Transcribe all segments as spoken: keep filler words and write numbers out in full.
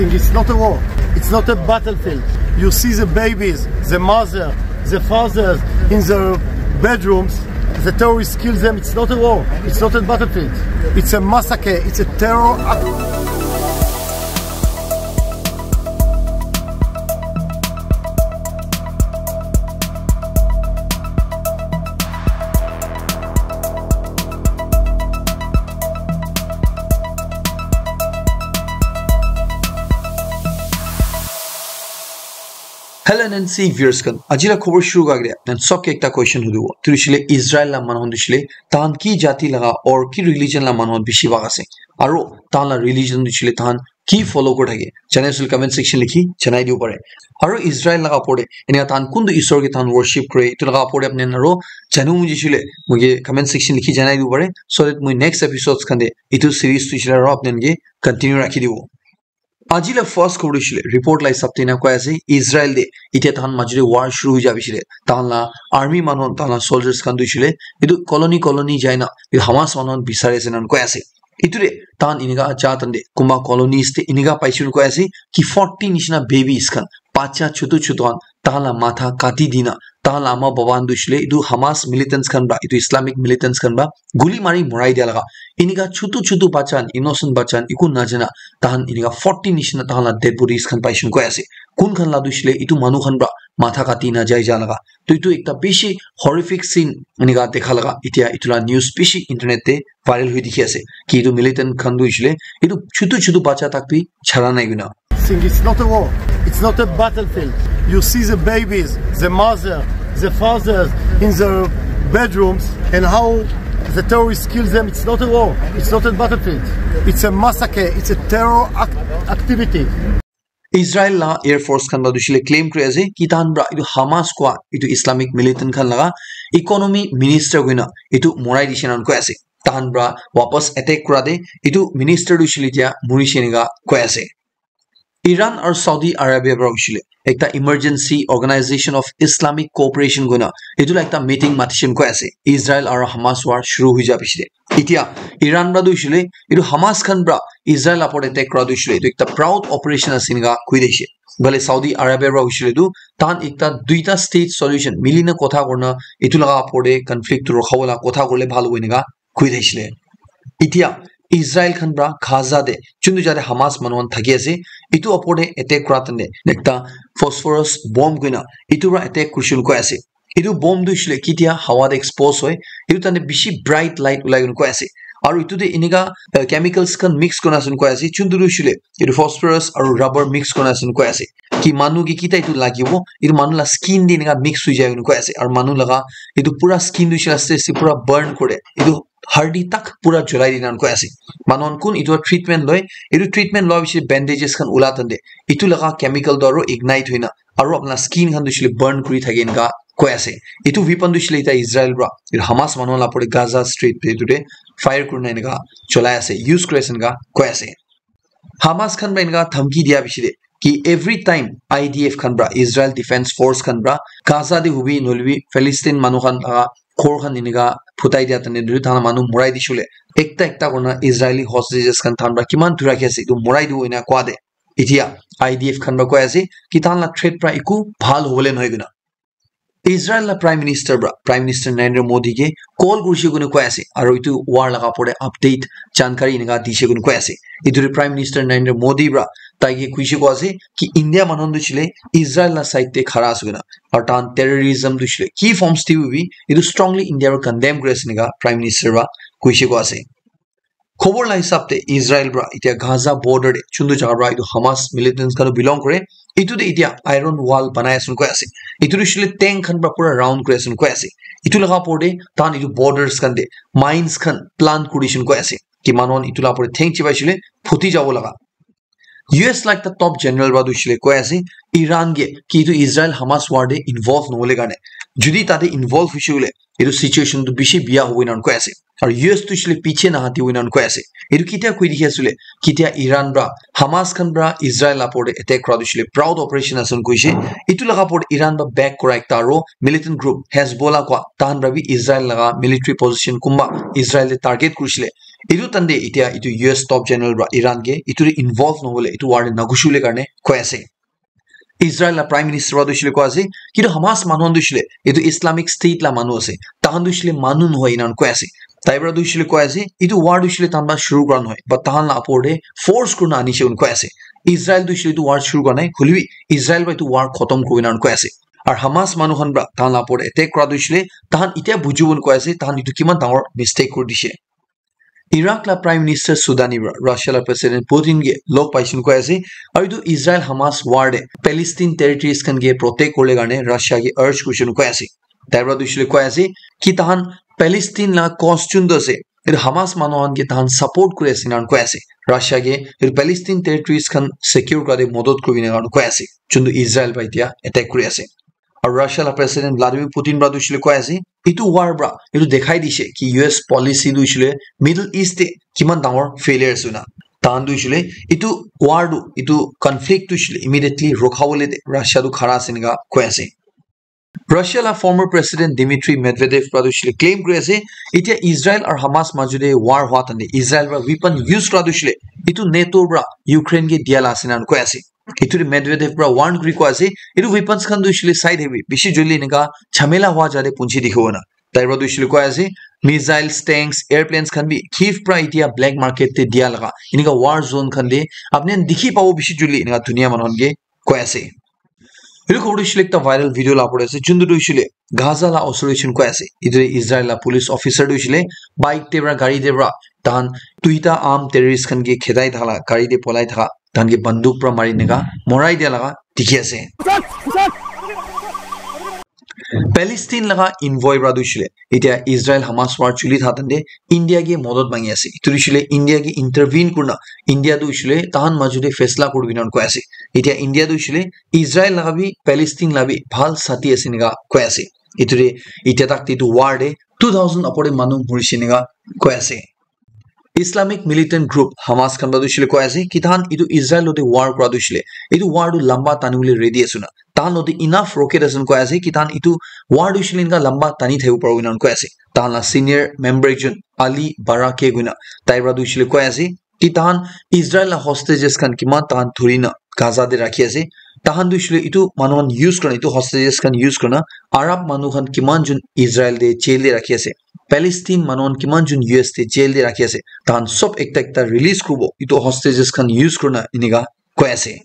It's not a war. It's not a battlefield. You see the babies, the mother, the fathers in their bedrooms. The terrorists kill them. It's not a war. It's not a battlefield. It's a massacre. It's a terror act. Hello N N C viewers khan, aji la khobor shuru kura agey de, nan sob ke ekta question hudibo. Tu hoishe le Israel la manu khan tu hoishe le, tahan ki jati laga or ki religion la manu khan bishi bhag ase? Aro tahan la religion tu hoishe le tahan ki follow kuri thake? Janai asile comment section likhi janai dibo pare. Aro Israel laga opor de, enika tahan kuntu isor ke tahan worship kore, etu laga opor de apni khan aro janu mujhe hoishe le, moike comment section likhi janai dibo pare, so that moi next episodes khan de etu series tu hoishe le aro apni khan ke continue rakhi dibo. Aji la first khobor tu hoishe le, report la hisab te ena koi ase, Israel de etia tahan majo de war shuru hoi ja hoishe le, tahan la army manu, tahan la soldiers khan tu hoishe le, etu colony colony jai na, etu Hamas manu khan bisari ase ena koi ase. Etu de tahan enika ja tan de, kunba colonies de enika paishe ena koi ase, ki forty nishina babies khan, bacha chutu chutu khan, tahan la matha kati dina, tahan la ama baba khan tu hoishe le, etu Hamas militants khan para, etu Islamic militants khan para, guli mari morai dia laga. Enika chutu chutu bacha khan, innocent bacha khan, eku najana, tahan enika forty nishina tahan la dead bodies khan paishe ena koi ase. Kun khan la tu hoishe le, etu manu khan para matha kati na jai ja laga. To etu ekta bishi horrific scene enika dekha laga. Etia etu la news bishi internet te viral hoi dikhi ase. Ki etu militant khan tu hoishe le, etu chutu chutu bacha tak bi chara nai koina. It's not a war. It's not a battlefield. You see the babies, the mother, the fathers in their bedrooms, and how the terrorists kill them. It's not a war. It's not a battlefield. It's a massacre. It's a terror act- activity. Israel la Air Force khan para tu hoishe le claim kuri ase ki tahan para etu Hamas kua etu Islamic militant khan laga economy minister koina etu morai dishe ena koi ase. Tahan para wapas attack kura de etu minister tu hoishe le etia morishe enika koi ase. Iran aru Saudi Arabia para hoishe le ekta Emergency Organization of Islamic Cooperation koina etu la ekta meeting matishe ena koi ase. Israel aru Hamas war shuru hoi ja hoishe le. Etia Iran para tu hoishe le, etu Hamas khan para Israel upor attack kura tu hoishe le, etu ekta proud operation ase enika koi dishe. Bale Saudi Arabia para hoishe le tu, tahan ekta duita state solution mili na kotha kurina, etu laga upor de conflict tu rukha bole kotha kurle bhal hobo enika koi dishe le. Etia Israel khan para Gaza de, juntu jate Hamas manu khan thaki ase, etu upor de attack kura tande, ekta phosphorus bomb koina, etu para attack kurishe ena koi ase. Etu bomb tu hoishe le ketia hawa te expose hoi, etu tande bishi bright light ulai kena koi ase. Aru etu te enika, eh, chemicals khan mix kurina ase koi ase. Chuntu tu hoishe le, etu phosphorus aru rubber mix kurina ase koi ase. Ki manu ke kita etu lagibo, etu manu la skin te enika mix hoi jai kena koi ase. Aru manu laga etu pura skin tu hoishe le aste aste pura burn kore. Etu hardi tak pura jolai dina koi ase. Manu khan kun etu treatment loi, etu treatment loi bishi bandages khan ula tande, etu laga chemical tu aru ignite hoina, aru apna skin khan tu hoishe le burn kuri thake enika koi ase. Etu weapon tu hoishe le eta Israel para, etu Hamas manu la pore Gaza Strip te etu te fire kurina enika cholai ase, use kuri ase enika koi ase. Hamas khan para enika dhamki dia bishi de ki every time I D F khan para, Israel Defense Force khan para Gaza de hobi nohoile bi Palestine manu khan laga ghor khan enika phutai dia tane nohoile tahan manu morai dishe le ekta ekta kurina Israeli hostages khan tahan para kiman dhuri rakhi ase etu morai dibo enika koi de. Etia I D F khan para koi ase ki tahan la threat para eku bhal hobole nohoi kena. Israel la Prime Minister para, Prime Minister Narendra Modi ke call kurishe koi kena koi ase, aru etu war laga opor te update, jankari enika dishe koi kena koi ase. Etu te Prime Minister Narendra Modi para tai ke kuishe koi ase ki India manu khan tu hoishe le Israel la side te khara ase koi kena, aru tahan terrorism tu hoishe le ki forms te bi etu strongly India para condemn kuri ase enika Prime Minister para kuishe koi ase. Khobor la hisab te Israel para etia Gaza border te juntu jaga para etu Hamas militants khan belong kore, etu te etia iron wall banai ase koi ase. Etu tu hoishe le tank khan para pura round kuri ase koi ase. Etu laga opor te tahan etu borders khan te mines khan plant kuri ase koi ase. Ki manu khan etu la opor te theng chibai shele phuti jabo laga. U S la ekta top general para tu hoishe le koi ase, Iran ke ki etu Israel Hamas war te involve nohole karne. Jodi tate involve hoishe koile, etu situation tu bishi biya hobo enan koi ase. Aru U S tu hoishe le piche nahatibo enakan koi ase. Etu ketia koi dikhi ase le, ketia Iran pra Hamas khan pra Israel la opor te attack kura tu hoishe le proud operation ase koishe. Etu laga opor te Iran pra back kura ekta aru militant group Hezbollah kua tahan pra bi Israel laga military position kumba Israel te target kurishe le. Etu tande etia etu U S top general pra Iran ke etu te involve nohole etu war te nagushi bole karne koi ase. Israel la Prime Minister pra tu hoishe le koi ase, kintu Hamas manu khan tu hoishe le etu Islamic State la manu ase, tahan tu hoishe le manu nohoi enakan koi ase. Tai pra tu hoishe le koi ase, etu war tu hoishe le tahan pra shuru kura nohoi, but tahan la opor te force kurina anishe enakan koi ase. Israel tu hoishe le etu war shuru kura nai, hoilebi Israel pra etu war khotom kuribo enakan koi ase. Aru Hamas manu khan pra tahan la opor te attack kura tu hoishe le tahan etia bujibo enakan koi ase, tahan etu kiman dangor mistake kuri dishe. Iraq la Prime Minister Sudani pra Russia la President Putin ke log paishe enakan koi ase, aru etu Israel Hamas war te Palestine territories khan ke protect kuribole karne Russia ke urge kurishe enakan koi ase. Tai pra tu hoishe le koi ase ki tahan Palestine la cause chun tu ase, etu Hamas manu khan ke tahan support kuri ase enakan koi ase. Russia ke etu Palestine territories khan secure kura te modot kuribo enakan koi ase, chun tu Israel pra etia attack kuri ase. Aru Russia la President Vladimir Putin pra tu hoishe le koi ase, etu war pra etu dekhai dishe ki U S policy tu hoishe le Middle East te kiman dangor failure ase na. Tahan tu hoishe le etu war tu, etu conflict tu hoishe le immediately rokha bole te Russia tu khara ase enakan koi ase. Russia la former President Dmitry Medvedev pra tu hoishe le claim kuri ase, etia Israel aru Hamas majo te war hua tande Israel pra weapon use kura tu hoishe le etu NATO pra Ukraine ke dia la ase enakan koi ase. Etu te Medvedev pra warn kuri koi ase, etu weapons khan tu hoishe le side heavy, bishi joldi enakan jhamela hua jate punchi dikhibo na. Tai pra tu hoishe le koi ase, missiles, tanks, airplanes khan bi Kyiv pra etia black market te dia laga enakan war zone khan te apni khan dikhi pabo bishi joldi enakan dunia manu khan ke koi ase. Etu khobor tu hoishe le ekta viral video la opor te ase, chun tu hoishe le Gaza la osor te chun koi ase. Etu te Israel la police officer tu hoishe le bike te pra, gari te pra tahan duita armed terrorist khan ke khedai thaka la, gari te polai thaka, tahan ke banduk pra mari enakan morai dia laga dikhi ase. Palestine laga envoy pra tu hoishe le etia Israel Hamas war chuli thaka tande India ke modot mangi ase. Etu tu hoishe le India ke intervene kurina India tu hoishe le tahan majo te faisla kuribo enakan koi ase. Etia India tu hoishe le Israel laga bi Palestine la bi bhal sati ase enakan koi ase. Etu te etia tak te etu war te two thousand opor te manu morishe enakan koi ase. Islamic militant group Hamas khan pra tu hoishe le koi ase ki tahan etu Israel logote war kura tu hoishe le etu war tu lamba tani bole ready ase na, tahan logote enough rocket ase koi ase ki tahan etu war tu hoishe le enakan lamba tani thaki bo paribo enakan koi ase. Tahan la senior member ekjon Ali Barakeh koina tai pra tu hoishe le koi ase ki tahan Israel la hostages khan kiman tahan dhurina Gaza te rakhi ase. Tahan tu hoishe le etu manu khan use kurina, etu hostages khan use kurina Arab manu khan kiman jon Israel te jail te rakhi ase, Palestine manu khan kiman jon U S te jail te rakhi ase, tahan sob ekta ekta release kuribo etu hostages khan use kurina enakan koi ase.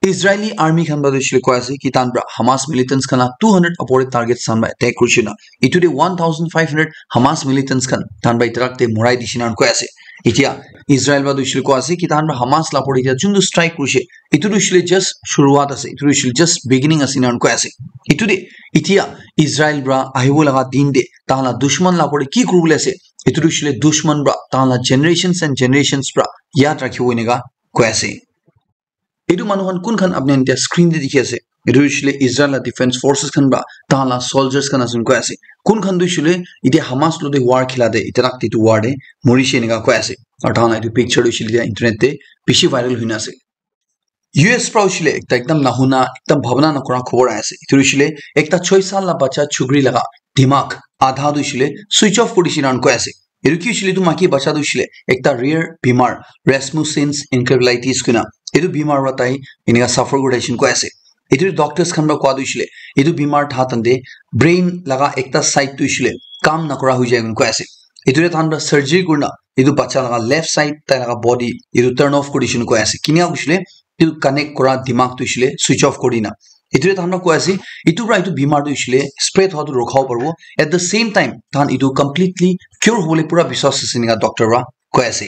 Israeli army khan pra tu hoishe le koi ase ki tahan pra Hamas militants khan la two hundred opor te target khan pra attack kurishe na. Etu te one thousand five hundred Hamas militants khan tahan pra etia tak te morai dishe enakan koi ase. Etia Israel pra tu hoishe le koi ase ki tahan pra Hamas la opor te etia chun tu strike kurishe, etu tu hoishe le just shuruat ase, etu tu hoishe le just beginning ase enakan koi ase. Etu te etia Israel pra ahibo laga din te tahan la dushman la opor te ki kuribole ase, etu tu hoishe le dushman pra tahan la generations and generations pra yad rakhibo enakan koi ase. Etu manu khan kun khan apni khan etia screen te dikhi ase, etu hoishe le Israel la defense forces khan pra tahan la soldiers khan ase koi ase. Kun khan tu hoishe le etia Hamas logote war khela te etia tak te etu war te morishe enakan koi ase. Aru tahan la etu picture tu hoishe le etia internet te bishi viral hoina ase. U S pra hoishe le ekta ekdam nahuna, ekdam bhabna nakura khobor ahi ase. Etu hoishe le ekta choi saal la bacha chukri laga dimag adha tu hoishe le switch off kuri dishe enakan koi ase. Etu ki hoishe le etu maiki bacha tu hoishe le ekta rare bimar, Rasmussen's encephalitis koina etu bimar pra tai enakan suffer kuri ase enakan koi ase. Etu doctors khan pra koi tu hoishe le etu bimar tha tande brain laga ekta side tu hoishe le kam nakura hoi jai enakan koi ase. Etu te tahan pra surgery kurina etu bacha laga left side tai laga body etu turn off kuri dishe enakan koi ase. Kinika hoishe le etu connect kura dimag tu hoishe le switch off kuri dina. Etu te tahan pra koi ase, etu pra etu bimar tu hoishe le spread hua tu rukha bo paribo. At the same time, tahan etu completely cure hobole pura biswas ase enakan doctor pra koi ase.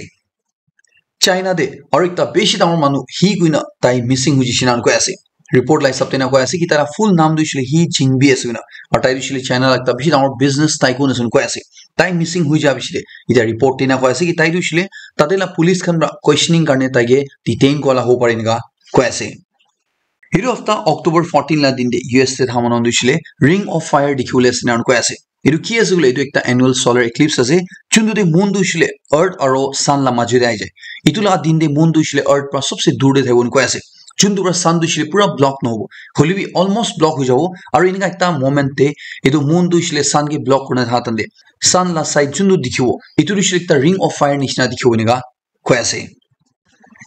China te aru ekta bishi dangor manu hi koina tai missing hoi jaise enakan koi ase. Report la hisab te enakan koi ase ki tai la full naam tu hoishe le He Jingbi ase koina. Aru tai tu hoishe le China la ekta bishi dangor business tycoon ase koina koi ase. Tai missing hoi ja piche te etia report te enakan koi ase ki tai tu hoishe le tate la police khan pra questioning karne tai ke detain kura la hobo pare enakan koi ase. Hitu hafta October fourteen la din te U S te thaman tu shile Ring of Fire dikhiwole ase nan koi ase. Etu ki ase koile, etu ekta annual solar eclipse ase. Chuntu te moon tu shile earth aro sun la majo te ahi jai. Etu la din te moon tu shile earth pra sobse dur te thakibo koi ase. Chuntu pra sun tu shile pura block nohobo. Hoile bi almost block hoi jabo. Aro enika ekta moment te etu moon tu shile sun ke block kurina tha tante sun la side chuntu dikhibo. Etu tu shile ekta ring of fire nishina dikhibo enika koi ase.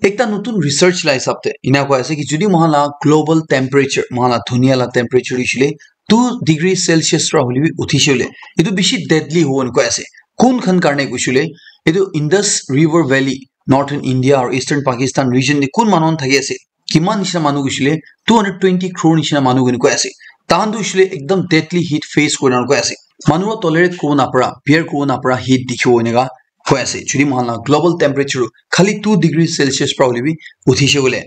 Ekta notun research la hisab te ena koi ase ki jodi moikhan la global temperature, moikhan la dunia la temperature hoishile two degree Celsius pra hoile bi uthise hoile, etu bishi deadly hobo koi ase. Kun khan karne koishile, etu Indus River Valley, Northern India or Eastern Pakistan region te kun manu khan thaki ase, kiman nishina manu koishile, two hundred twenty crore nishina manu koi ase. Tahan tu hoishile ekdam deadly heat face kurina koi ase. Manu pra tolerate kuribo napara, bear kuribo napara heat dikhibo enika koi ase. Jodi moikhan la global temperature khali two degree Celsius pra hoile bi uthise koile.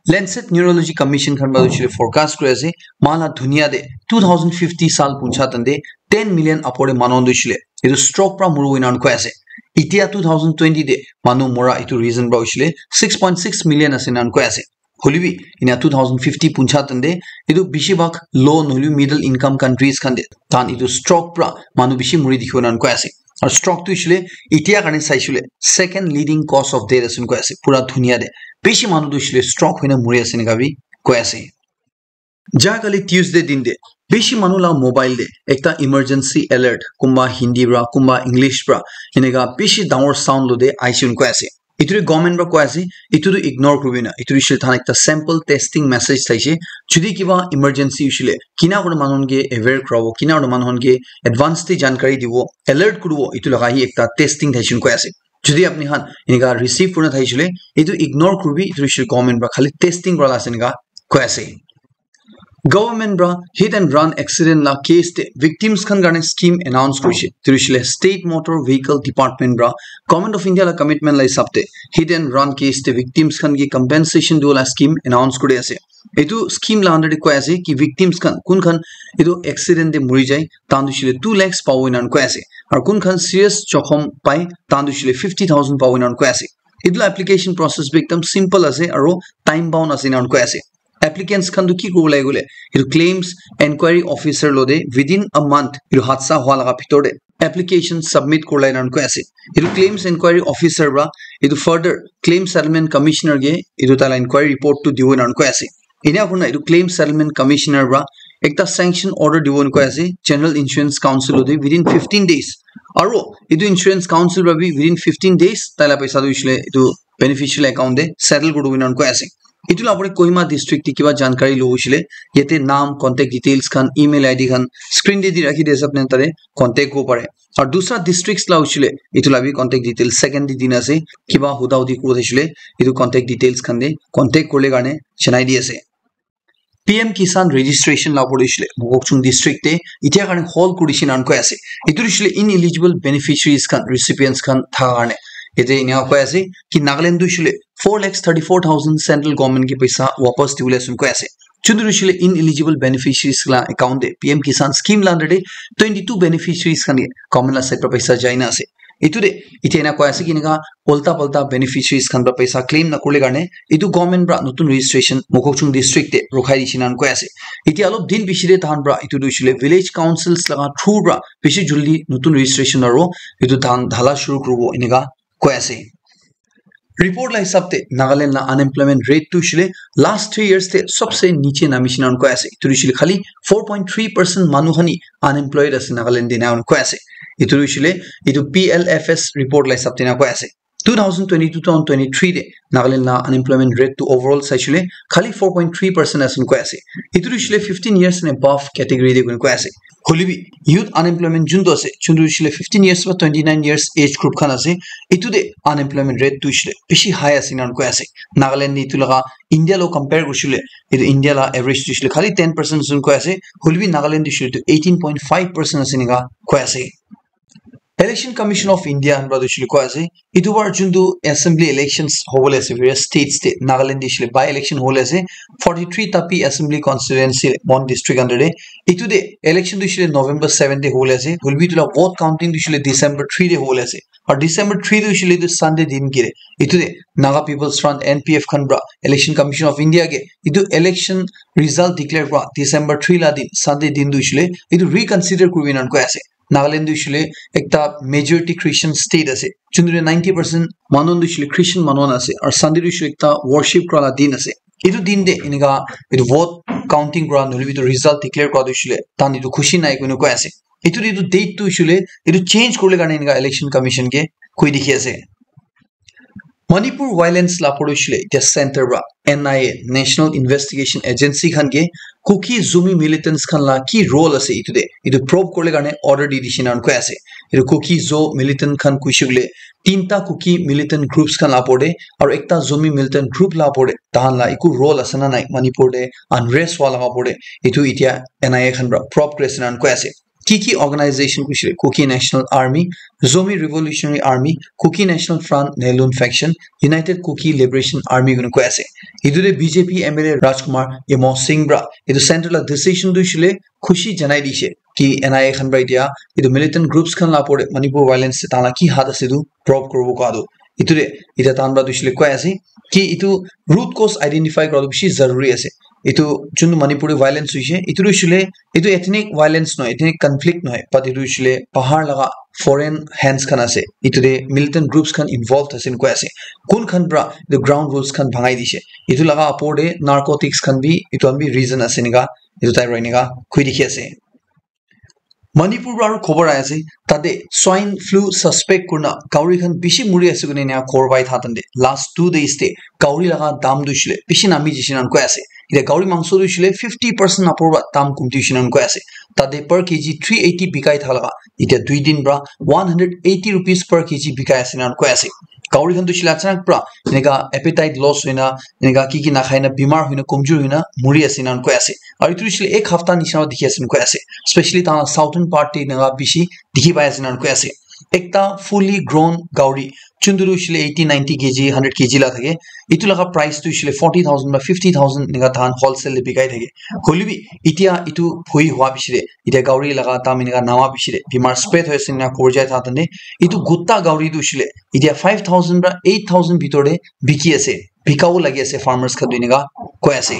Lancet Neurology Commission khan pra hoishile forecast kuri ase, moikhan la dunia te two thousand fifty sal puncha tante ten million upor te manu tu hoishile etu stroke pra muribo enan koi ase. Itia two thousand twenty te manu mura etu reason pra hoishile six point six million ase enan koi ase. Hoile bi ena two thousand fifty puncha tante etu bishi bhag low nohoile middle income countries khan te tahan etu stroke pra manu bishi muri dikhibo enan koi ase. Aru stroke tu hoishile itia karne saishile second leading cause of death ase koi ase pura dunia te. Bishi manu tu hoishile stroke hoina muri ase enika bi koi ase. Ja kali Tuesday din te bishi manu la mobile te ekta emergency alert, kunba Hindi pra, kunba English pra, enika bishi dangor sound lo te aise koi ase. Etu tu government pra koi ase, etu tu ignore kuribi na. Etu tu hoishile tahan ekta sample testing message thaise. Jodi kiba emergency hoishile, kina kurina manu khan ke aware kurabo, kina kurina manu khan ke advance te jankari dibo, alert kuribo, etu laga hi ekta testing thaise koi ase. Jodi apni khan enika receive kurina thaisile, etu ignore kuribi, etu hoishile government pra khali testing kura la ase enika koi ase. Government pra hit and run accident la case te victims khan karne scheme announce kurishe. Etu hoishile State Motor Vehicle Department pra Government of India la commitment la hisab te hit and run case te victims khan ke compensation dibo la scheme announce kuri ase. Etu scheme la under te koi ase ki victims khan kun khan etu accident te muri jai, tahan tu hoishile two lakhs pabo enan koi ase. Aru kun khan serious jokhom pai, tahan tu hoishile fifty thousand pabo enan koi ase. Etu la application process bi ekdam simple ase aru time bound ase enan koi ase. Applicants khan tu ki kuribo lage koile, etu claims inquiry officer lo te within a month etu hadsa hua laga bhitor te application submit kuribole enan koi ase. Etu claims inquiry officer pra etu further claim settlement commissioner ke etu taila inquiry report tu dibo enan koi ase. Ena kurina etu claim settlement commissioner pra ekta sanction order dibo enan koi ase General Insurance Council lo te within fifteen days. Aru etu insurance council pra bi within fifteen days taila paisa tu hoishile etu beneficial account te settle kuribo enan koi ase. Etu la opor te Kohima district te kiba jankari lobo hoishile, yate naam, contact details khan, email I D khan screen te di rakhi di ase, apni tate contact kuribo pare. Aru dusra districts la hoishile, etu la bi contact details second te dina ase. Kiba huda hudi kuribo hoishile, etu contact details khan te contact kuribole karne janai di ase. P M Kisan registration la opor te hoishile, Mokokchung district te itia karne hold kurishe enan koi ase. Etu hoishile ineligible beneficiaries khan, recipients khan thaka karne. Yate ena koi ase ki Nagaland tu hoishile four lakhs thirty-four thousand central government ke paisa wapas dibole ase koi ase. Chuntu hoishile ineligible beneficiaries la account te P M Kisan scheme la under te twenty-two beneficiaries khan ke government la side pra paisa jai na ase. Etu te itia ena koi ase ki enika ulta palta beneficiaries khan pra paisa claim nakurile karne etu government pra notun registration Mokokchung district te rukhai dishe enan koi ase. Itia olop din piche te tahan pra etu tu hoishile village councils laga through pra bishi jaldi notun registration aru etu tahan dhala shuru kuribo enika koi ase. Report la hisab te Nagaland la unemployment rate tu hoishile last three years te sobse niche namishe enan koi ase. Etu hoishile khali four point three percent manu khan hi unemployed ase Nagaland te enan koi ase. Etu hoishile etu P L F S report la hisab te enan koi ase. Two thousand twenty-two, two thousand twenty-three te Nagaland la unemployment rate tu overall saishile khali four point three percent ase koi ase. Etu hoishile fifteen years and above category te koi ase. Hoile bi youth unemployment juntu ase, juntu hoishile fifteen years pra twenty-nine years age group khan ase, etu te unemployment rate tu hoishile bishi high ase enan koi ase. Nagaland te etu laga India lo compare kurisile, etu India la average tu hoishile khali ten percent ase koi ase, hoile bi Nagaland tu hoishile tu eighteen point five percent ase enika koi ase. Election Commission of India han pra tu hoishe koile koi ase, etu bar juntu assembly elections hobole ase various states te, Nagaland te hoishe koile by election hobole ase, forty-three Tapi Assembly Constituency, Mon District under te. Etu te election tu hoishe koile November seven te hobole ase, hoilebi etu la vote counting tu hoishe koile December three te hobole ase. Aru December three tu hoishe koile etu Sunday din kire. Etu te Naga People's Front, N P F, khan pra Election Commission of India ke etu election result declare kura December three la din, Sunday din tu hoishe koile etu reconsider kuribi enan koi ase. Nagaland tu hoishe koile ekta majority Christian state ase. Juntu te ninety percent manu tu hoishe koile Christian manu khan ase. Aru Sunday tu hoishe koile ekta worship kura la din ase. Etu din te enika etu vote counting kura nohoilebi etu result declare kura tu hoishe koile tahan etu khushi nai koina koi ase. Etu, etu date tu hoishe koile etu change kuribole karne enika Election Commission ke koi dikhi ase. Manipur violence la opor te hoishe koile etia center pra N I A, National Investigation Agency, khan ke Kuki Zomi militants khan la ki role ase etu te, etu probe kuribole karne order di dishe enan koi ase. Etu Kuki Zo militant khan koi hoishe koile tinta Kuki militant groups khan la opor te aru ekta Zomi militant group la opor te tahan la eku role ase na nai Manipur te unrest hua laga opor te, etu etia N I A khan pra probe kuri ase enan koi ase. Ki ki organization koi hoishe koile Kuki National Army, Zomi Revolutionary Army, Kuki National Front, Naylun Faction, United Kuki Liberation Army koina koi ase. Etu te B J P M L A Rajkumar Imo Singh pra etu center la decision tu hoishe koile khushi janai dishe ki N I A khan pra etia etu militant groups khan la opor te Manipur violence te tahan la ki hath ase etu probe kuribo koa tu. Etu te etia tahan pra tu hoishe koile koi ase ki etu root cause identify kura tu bishi zaruri ase. Etu juntu Manipur te violence hoishe, etu tu hoishe koile etu ethnic violence nohoi, ethnic conflict nohoi, but etu hoishe koile bahar laga foreign hands khan ase. Etu te militant groups khan involved ase enan koi ase. Kun khan pra etu ground rules khan bhangai dishe, etu laga opor te narcotics khan bi, etu khan bi reason ase enika etu tai pra enika koi dikhi ase. Manipur pra aru khobor ahi ase, tate swine flu suspect kurina gauri khan bishi muri ase koina enika khobor pai thakan te last two days te gauri laga dam tu hoishe koile bishi nami jishe enan koi ase. Etia gauri mangso tu hoishe koile fifty percent upor pra dam kumti hoishe enan koi ase. Tate per K G three eighty bikai thaka laga etia dui din pra one hundred eighty rupees per K G bikai ase enan koi ase. Gauri khan tu hoishe koile achanak pra enika appetite loss hoina, enika ki ki nakhai na, bimar hoina, komjor hoina muri ase enan koi ase. Aru etu hoishe koile ek hafta nisina dikhi ase enan koi ase. Especially tahan southern part te enika bishi dikhi pai ase enan koi ase. Ekta fully grown gauri, juntu tu hoishe koile eighty, ninety K G, hundred K G la thake, etu laga price tu hoishe koile forty thousand ba fifty thousand enika tahan wholesale te bikai thake. Hoilebi etia etu bhoi hua piche te, etia gauri laga dam enika nama piche te, bimar spread hoi ase enika khobor jai thakan te, etu gutta gauri tu hoishe koile etia five thousand pra eight thousand bitor te biki ase, bikabo lagi ase farmers khan tu enika koi ase.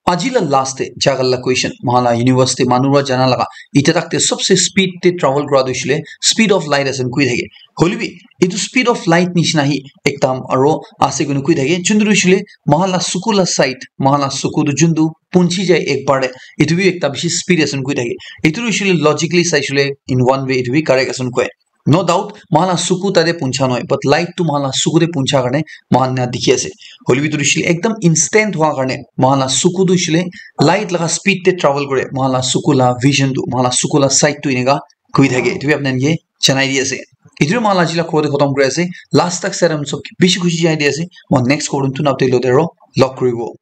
Aji la last te jagal la question, moikhan la university manu pra jana laga, etia tak te sobse speed te travel kura tu hoishe koile speed of light ase koi thake. Hoilebi etu speed of light nishina hi ekdam aro ase koina koi thake. Juntu tu hoishe koile moikhan la suku la sight, moikhan la suku tu juntu punchi jai ek bar te, etu bi ekta bishi speed ase koi thake. Etu tu hoishe koile logically saishe koile in one way etu bi correct ase koi. No doubt, moikhan la suku tate puncha nohoi, but light tu moikhan la suku te puncha karne moikhan na dikhi ase. Hoilebi tu hoishe koile ekdam instant hua karne moikhan la suku tu hoishe koile light laga speed te travel kore, moikhan la suku la vision tu, moikhan la suku la sight tu enika koi thake. Etu bi apni khan ke janai di ase. Etu moikhan la aji la khobor tu khotom kuri ase. Last tak saram sob ke bishi khushi janai di ase. Moi next khobor tu na update lo de ro log kuribo.